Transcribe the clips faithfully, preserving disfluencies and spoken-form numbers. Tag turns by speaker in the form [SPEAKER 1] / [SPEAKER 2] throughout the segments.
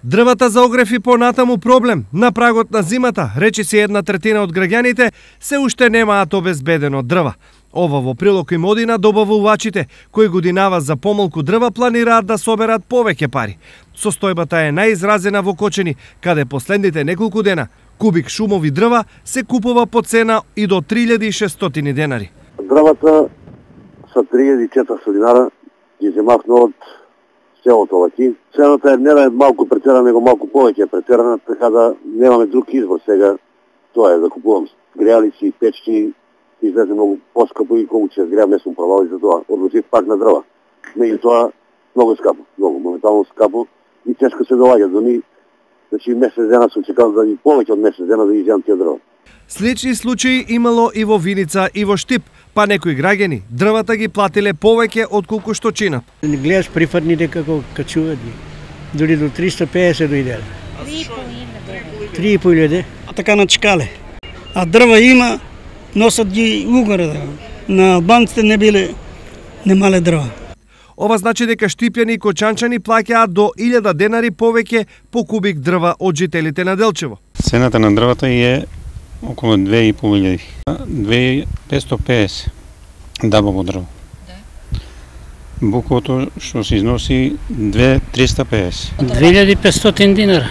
[SPEAKER 1] Дрвата за огрев и понатаму проблем. На прагот на зимата, речиси една третина од граѓаните се уште немаат обезбедено дрва. Ова во прилог им оди на добавувачите, кои годинава за помалку дрва планираат да соберат повеќе пари. Состојбата е најизразена во Кочени, каде последните неколку дена кубик шумови дрва се купува по цена и до три илјади и шестстотини денари.
[SPEAKER 2] Дрвата са три илјади и четиристотини динара, ги земавме од селото Лаки. Цената е не да е малку претерана, него малку повеќе е претерана, така да немаме друг избор сега. Тоа е да купувам греалици и печки, излезе многу поскапо и колку ќе греам не сум пробал и за тоа одлучив пак на дрва. Меѓутоа многу скапо, многу моментално скапо и тешко се доаѓа до ни. Значи месец дена сум чекал да и повеќе од месец дена да изјам тие дрва.
[SPEAKER 1] Слични случаи имало и во Виница и во Штип, па некои граѓани дрвата ги платиле повеќе отколку што чинат.
[SPEAKER 3] Не гледаш прифатните како качуваат ги. Дури до триста и песет дојделе. три и по илјади.
[SPEAKER 4] А така на чекале. А дрва има, носат ги угоре да. На албанците не биле, немале дрва.
[SPEAKER 1] Ова значи дека штипјани и кочанчани плаќаат до илјада денари повеќе по кубик дрва од жителите на Делчево.
[SPEAKER 5] Цената на дрвата е околу две и по илјади. две илјади петстотини и педесет дабаво дрво. Буковото што се износи две илјади триста и педесет.
[SPEAKER 6] две илјади и петстотини динара.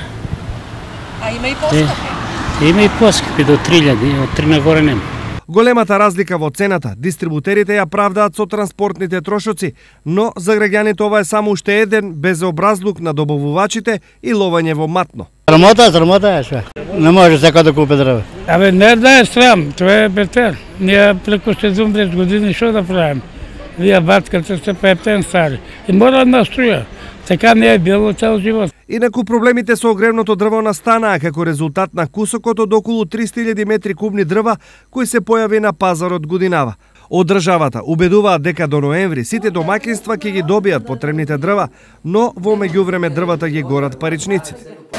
[SPEAKER 7] А има и поскапи?
[SPEAKER 6] Има и поскапи до три илјади, од три нагоре нема.
[SPEAKER 1] Големата разлика во цената, дистрибутерите ја правдаат со транспортните трошоци, но за граѓаните ова е само уште еден безобразлук на добавувачите и ловење во матно.
[SPEAKER 3] Срамота, срамота е што. Не може секој да купи дрва.
[SPEAKER 8] Абе не да е срам, тоа е бетер. Ние преку седумдесет години што да правиме? Вие батката сте петен стари. И мора да струја. Така не е било цел живот.
[SPEAKER 1] Инаку проблемите со огревното дрво настанаа како резултат на кусокот од околу триста илјади метри кубни дрва кои се појави на пазарот годинава. Од државата убедуваат дека до ноември сите домаќинства ќе ги добијат потребните дрва, но во меѓувреме дрвата ги горат паричниците.